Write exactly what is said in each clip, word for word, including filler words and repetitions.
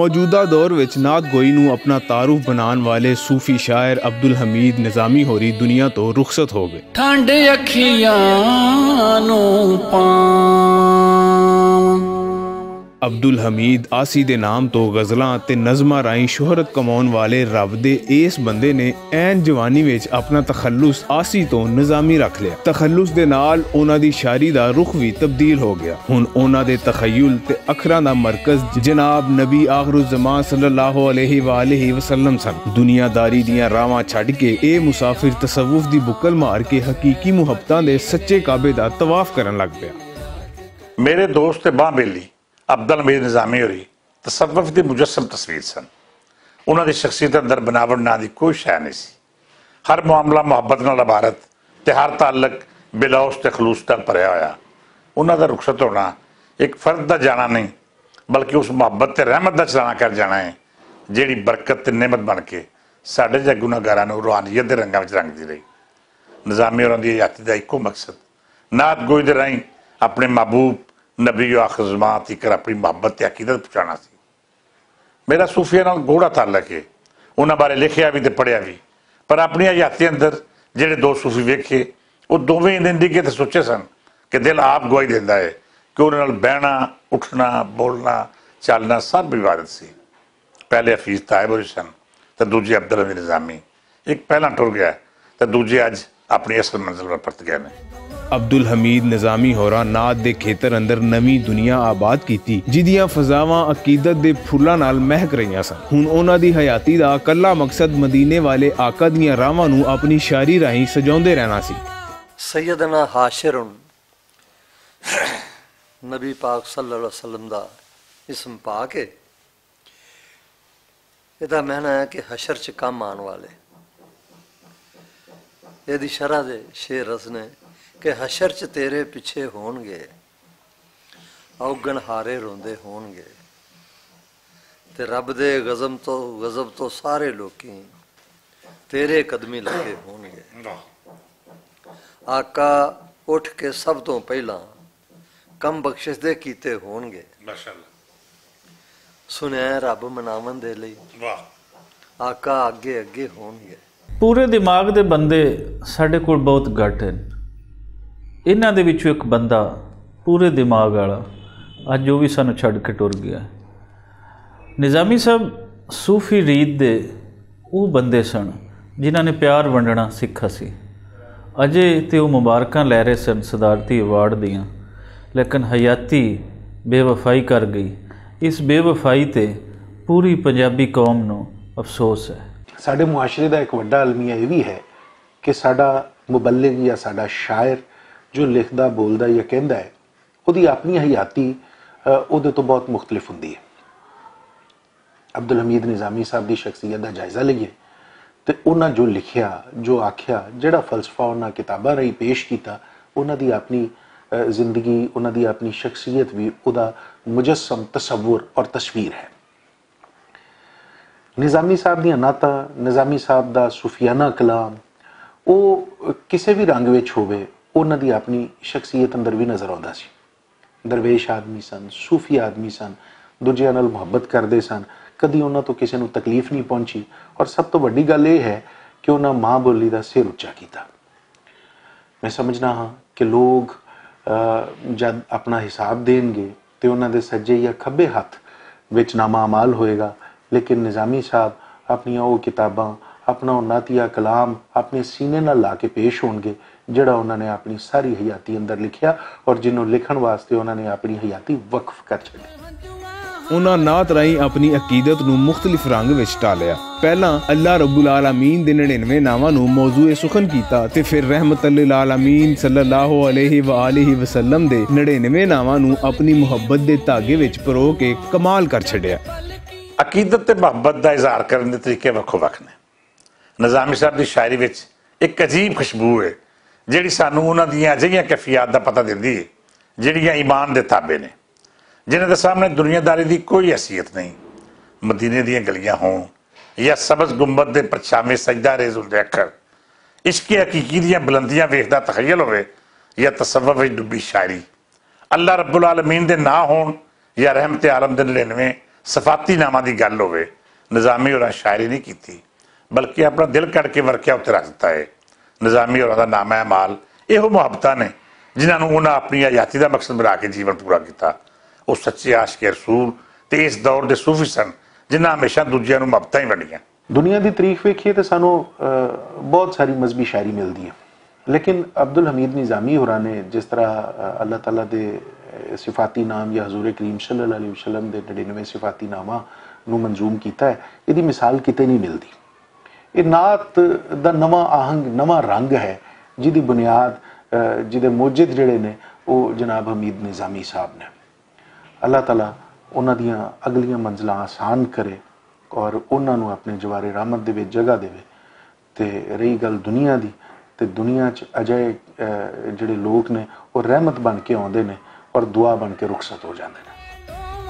موجودہ دور وچ نعت گوئی نوں اپنا تعارف بنان والے صوفی شاعر عبدالحمید نظامی ہوری دنیا تو رخصت ہو گئے۔ ٹھنڈ اکھیاں نوں پاواں۔ عبدالحمید آسی دے نام تو غزلاں تے نظماں راہیں شہرت کماؤن والے رب دے ایس بندے نے عین جوانی وچ اپنا تخلص آسی تو نظامی رکھ لیا۔ تخلص دے نال انہاں دی شاعری دا رخ وی تبدیل ہو گیا۔ ہن انہاں دے تخیل تے اکھراں دا مرکز جناب نبی آخر الزمان صلی اللہ علیہ وآلہ وسلم سن۔ دنیا داری دیاں راواں چھڈ کے اے مسافر تصوف دی بکل مار کے حقیقی محبتاں دے سچے کعبے دا طواف کرن لگ پیا۔ میرے دوست تے باں بیلی عبدالحمید نظامی ہوری تصوف دی مجسم تصویر سن۔ انہاں دی شخصیت اندر بناوٹ ناں دی کوئی شے نہیں سی۔ ہر معاملہ محبت نال عبارت تے ہر تعلق بلاؤس تے خلوص نال بھریا ہویا۔ انہاں دا رخصت ہونا ایک فرد دا جانا نہیں، بلکہ اس محبت تے رحمت دا چلانا کر جانا ہے، جیڑی برکت تے نعمت بن کے ساڈے جے گناہگاراں نوں روحانیت دے رنگاں وچ رنگدی رہی۔ نظامی ہوراں دی حیاتی دا اکو مقصد نعت گوئی دے راہیں اپنے محبوب نبی آخر زمان تیکر اپنی محبت تے عقیدت پہنچانا سی۔ میرا صوفیہ نال گوڑا تعلق ہے۔ انہاں بارے لکھیا بھی تے پڑھیا بھی، پر اپنی حیاتی اندر جڑے دو صوفی ویکھے، وہ دوویں انہیں ڈگے تے سوچے سن کہ دل آپ گواہی دیندا ہے کہ انہاں نال بہنا، اٹھنا، بولنا، چلنا سب عبادت سی۔ پہلے حفیظ طاہر ہوری سن تے دوجے عبدالحمید نظامی۔ ایک پہلا ٹر گیا تے دوجے اج اپنی اصل منزل پر پرت گئے نے۔ عبدالحمید نظامی ہوراں نعت دے کھیتر اندر نویں دنیا آباد کیتی، جدیاں فضاواں عقیدت دے پھلاں نال مہک رہیاں سن۔ ہن انہاں دی حیاتی دا کلا مقصد مدینے والے آقا دیاں راہواں نوں اپنی شاعری راہیں سجاؤندے رہنا سی۔ سیدنا حاشر نبی پاک صلی اللہ علیہ وسلم دا اسم پاک ہے۔ یہ دا معنی ہے کہ حشر چ کم آن والے۔ یہ دی شرح دے شعر رسنے کہ حشر چ تیرے پیچھے ہون گے، اوگن ہارے روندے ہون گے، تے رب دے غضب تو، غضب تو سارے لوکی تیرے قدمی لگے ہون گے۔ آقا اٹھ کے سب تو پہلا کم بخشش دے کیتے ہون گے۔ سنیا رب مناون دے لئی آقا اگے اگے ہون گے۔ پورے دماغ دے بندے ساڈے کول بہت گھٹ ہن۔ انہاں دے وچوں ایک بندہ پورے دماغ والا اج او وی سانوں چھڈ کے ٹر گیا۔ نظامی صاحب صوفی ریت دے او بندے سن جنہاں نے پیار ونڈنا سکھا سی۔ اجے تے او مبارکاں لے رہے سن صدارتی ایوارڈ دیاں، لیکن حیاتی بے وفائی کر گئی۔ اس بے وفائی تے پوری پنجابی قوم نوں افسوس ہے۔ ساڈے معاشرے دا ایک وڈا المیہ یہ بھی ہے کہ ساڈا مبلغ یا ساڈا شاعر جو لکھدا، بولدا یا کہندا ہے، اودی اپنی حیاتی، اہ، اودے تو بہت مختلف ہوندی ہے۔ عبدالحمید نظامی صاحب دی شخصیت دا جائزہ لئیے تے انہاں جو لکھیا، جو آکھیا، جڑا فلسفہ انہاں کتاباں راہیں پیش کیتا، انہاں دی اپنی، اہ، زندگی، انہاں دی اپنی شخصیت بھی اودا مجسم، تصور اور تصویر ہے۔ نظامی صاحب دیاں نعتاں، نظامی صاحب دا صوفیانہ کلام، او کسے بھی رنگ وچ ہووے، انہاں دی اپنی شخصیت اندر بھی نظر آوندا سی۔ درویش آدمی سن، صوفی آدمی سن، دوجیاں نال محبت کردے سن، کدی انہاں تو کسے نوں تکلیف نہیں پہنچی۔ اور سب تو وڈی گل یہ ہے کہ انہاں ماں بولی دا سر اچا کیتا۔ میں سمجھنا ہاں کہ لوگ، آ، جد اپنا حساب دین گے تے انہاں دے سجے یا کھبے ہتھ وچ نامہ اعمال ہوئے گا، لیکن نظامی صاحب اپنیاں او کتاباں، اپنا او نعتیہ کلام اپنے سینے نال لا کے پیش ہون گے، جڑا انہاں نے اپنی ساری حیاتی اندر لکھیا اور جنوں لکھن واسطے انہاں نے اپنی حیاتی وقف کر چھڈی۔ انہاں نعت راہیں اپنی عقیدت نوں مختلف رنگ وچ ٹالیا۔ پہلاں اللہ رب العالمین دے نڑینوے ناواں نوں موضوع سخن کیتا تے پھر رحمت للعالمین صلی اللہ علیہ وآلہ وسلم دے نڑینوے ناواں نوں اپنی محبت دے دھاگے وچ پرو کے کمال کر چھڈیا۔ عقیدت تے محبت دا اظہار کرن دے طریقے وکھو وکھ نے۔ نظامی صاحب دی شاعری وچ ایک عجیب خوشبو ہے، جڑی سانوں انہاں دیاں اجہیاں کیفیات دا پتہ دیندی ہے، جڑیاں ایمان دے تابع نے، جنہاں دے سامنے دنیا داری دی کوئی حیثیت نہیں۔ مدینے دیاں گلیاں ہون یا سبز گنبد دے پرچھاویں سجدہ ریز ہوندے اکھر، عشق حقیقی دیاں بلندیاں ویکھدا تخیل ہوئے یا تصوف وچ ڈبی شاعری، اللہ رب العالمین دے ناں ہون یا رحمت عالم دے نڑینویں صفاتی ناماں دی گل ہووے، نظامی ہوراں شاعری نہیں کیتی، بلکہ اپنا دل کڈ کے ورقیاں اتے رکھ دتا ہے۔ نظامی ہوراں دا نامہ اعمال ایہو محبتاں نے، جنہاں نوں انہاں اپنی حیاتی دا مقصد بنا کے جیون پورا کیتا۔ او سچے عاشق رسول تے اس دور دے صوفی سن، جنہاں ہمیشہ دوجیاں نوں محبتاں ہی ونڈیاں۔ دنیا دی تاریخ ویکھیے تے سانوں، آ، بہت ساری مذہبی شاعری ملدی ہے، لیکن عبدالحمید نظامی ہوراں نے جس طرح، آ، اللہ تعالیٰ دے، آ، صفاتی نام یا حضور کریم صلی اللہ علیہ وسلم دے نڑینوے صفاتی ناماں نوں منظوم کیتا ہے، ایہدی مثال کتے نہیں ملدی۔ ایہہ نعت دا نواں آہنگ، نواں رنگ ہے، جس دی بنیاد، آ، جس دے موجد جڑے نے، او جناب حمید نظامی صاحب نے۔ اللہ تعالیٰ انہاں دیاں اگلیاں منزلاں آسان کرے اور انہاں نوں اپنے جوار رحمت دے وچ جگہ دے۔ تے رہی گل دنیا دی، تے دنیا چ اجے، اے، جڑے لوگ نے، وہ رحمت بن کے آندے نے اور دعا بن کے رخصت ہو جاندے نے۔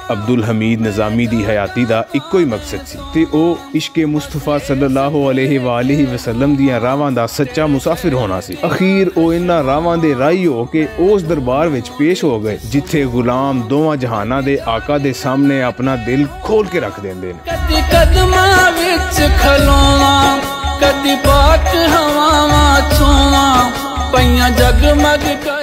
عبدالحمید نظامی دی حیاتی دا اکو ہی مقصد سی، تے او عشق مصطفیٰ صلی اللہ علیہ وآلہ وسلم دیاں راواں دا سچا مسافر ہونا سی۔ اخیر او انہاں راواں دے راہی ہو کے اس دربار وچ پیش ہو گئے، جتھے غلام دوواں جہاناں دے آقا دے سامنے اپنا دل کھول کے رکھ دیندے نے۔ کدی قدماں وچ کھلواں، کدی پاک ہواواں چھواں، پئیاں جگمگ کر